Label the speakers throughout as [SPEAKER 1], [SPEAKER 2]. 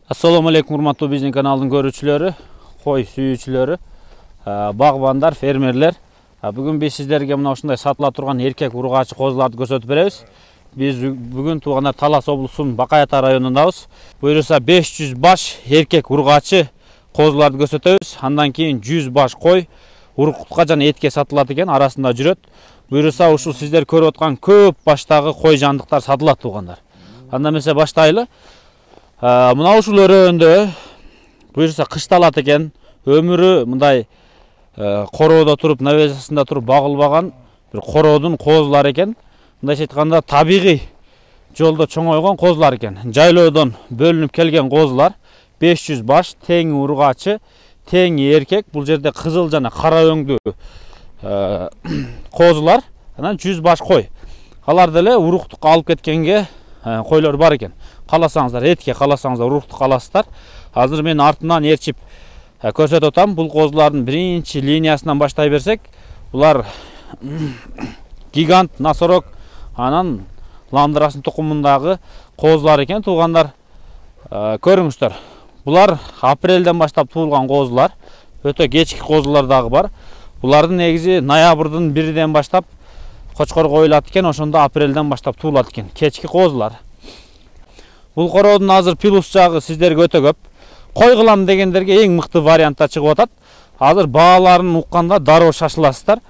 [SPEAKER 1] Assalamu alaikum урматтуу биздин каналдын көрүүчүлөрү, кой сүйүүчүлөрү, багбандар, фермерлер. Бүгүн биз сиздерге мына ушундай сатыла турган эркек ургачы козуларды көрсөтүп беребиз. Биз бүгүн туугандар Талас облусунун Бакай Ата районундабыз. Буюрса 500 баш эркек ургачы козуларды көрсөтөбүз. Андан кийин 100 баш кой уруктукка жана этке сатылат экен, арасында жүрөт. Буюрса ушул сиздер көрүп аткан көп баштагы кой жандыктар сатылат туугандар. Анда эмесе баштайлы. Мына ушул өрөөндө буюрса кышталат экен, өмүрү мындай короодо туруп, навесасында туруп багылбаган бир короодун козулары экен. Мындайча айтканда табигый жолдо чоңойгон козулар экен. Жайлоодон бөлүнүп келген козулар 500 баш, тең ургачы, тең эркек. Бул жерде кызыл жана кара өңдүү козулар, анан 100 баш кой. Алар деле уруктукка алып кеткенге койлор бар экен. Каласаңыздар этке, каласаңыздар уруктукка аласыздар. Азыр мен артынан ээрчип көрсөтүп атам. Бул козулардын биринчи линиясынан баштай берсек, булар гигант, носорог, анан ландырасын тукумундагы козулар экен туугандар. Көрүңүздөр. Булар апрелден баштап туулган козулар. Өтө кечки козулар дагы бар. Булардын негизи ноябрдын 1-ден баштап кочкор коюлат экен, ошондо апрелден баштап туулат экен. Кечки козулар. Бул короодун азыр плюс жагы сиздерге өтө көп. Кой кылам дегендерге эң мыкты вариантта чыгып атат. Азыр бааларын укканда дароо шашыласыздар.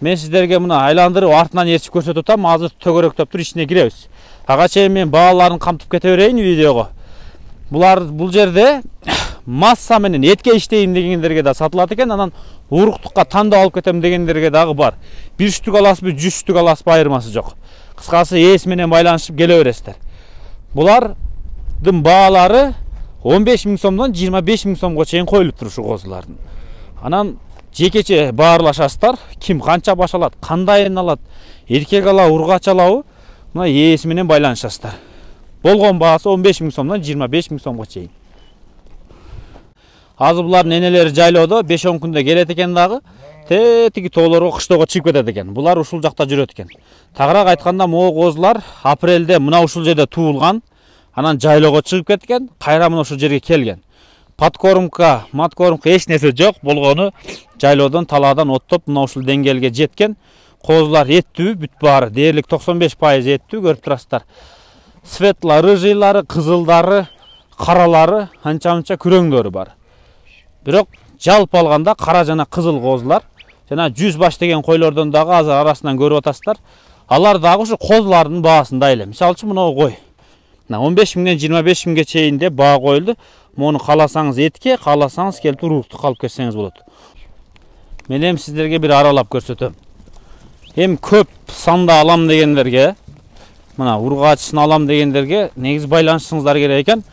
[SPEAKER 1] Мен сиздерге мына айландырып артынан ээрчип көрсөтүп атам. Азыр төгөрөктөп тур, ичине киребиз. Ага чейин мен бааларын камтып кете берейин видеого. Бул жерде масса менен этке иштейм дегендерге да сатылат экен, анан уруктукка тандап алып кетем дегендерге дагы бар. 1 штук аласызбы, 100 штук аласызбы айырмасы жок. Кыскасы ээс менен байланышып келе бересиздер. Булардын баалары 15 000 сомдон 25 000 сомго чейин коюлуп тур ушул козулардын. Анан жекече баарлашасыздар. Ким канча баш алат, кандайын алат, эркек ала, ургач алабы, мына ээс менен байланышасыздар. Болгон баасы 15 000 сомдон 25 000 сомго чейин. Азыр булардын энелери жайлоодо 5-10 күндө келет экен дагы. Тетиги тоолорго кыштоого чыгып кетет экен. Булар ушул жакта жүрөт экен. Тагыраак айтканда, могу козулар апрелде мына ушул жерде туулган, анан жайлоого чыгып кеткен, кайра мына ушул жерге келген. Подкормка, маткормка эч нерсе жок болгону жайлоодон талаадан оттоп мына ушул деңгээлге жеткен. Козулар эттүү, бүт баары дээрлик 95% эттүү, көрүп турасыздар. Светло рыжыйлары, кызылдары, каралары, анча-мынча күрөңдөрү бар. Бирок жалпы алганда кара жана кызыл козулар, жана 100 баш деген койлордон дагы азыр арасынан көрүп атасыздар. Алар дагы ушу козулардын баасында эле. Мисалы үчүн мына кой. 15 000ден 25 000ге чейин деп баа коюлду. Муну каласаңыз этке, каласаңыз келип уруктукка алып кетсеңиз болот. Мен эми сиздерге бир аралап көрсөтөм. Эми көп санда алам дегендерге, мына ургачысын алам дегендерге негиз байланышыңыздар керек экен.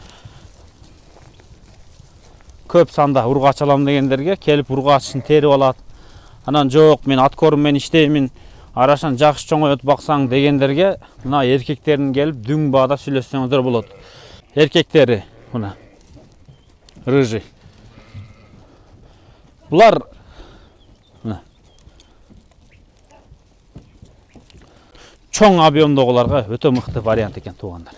[SPEAKER 1] Көп санда ургач алам дегендерге келип ургачысын терип алат. Анан жок, мен аткорм менен иштеймин, арашан жакшы чоңойот баксаң дегендерге мына эркектерин келип дүң баада сүйлөшсөңүздөр болот. Эркектери мына рыжий. Булар мына чоң объемдогуларга өтө мыкты вариант экен туугандар.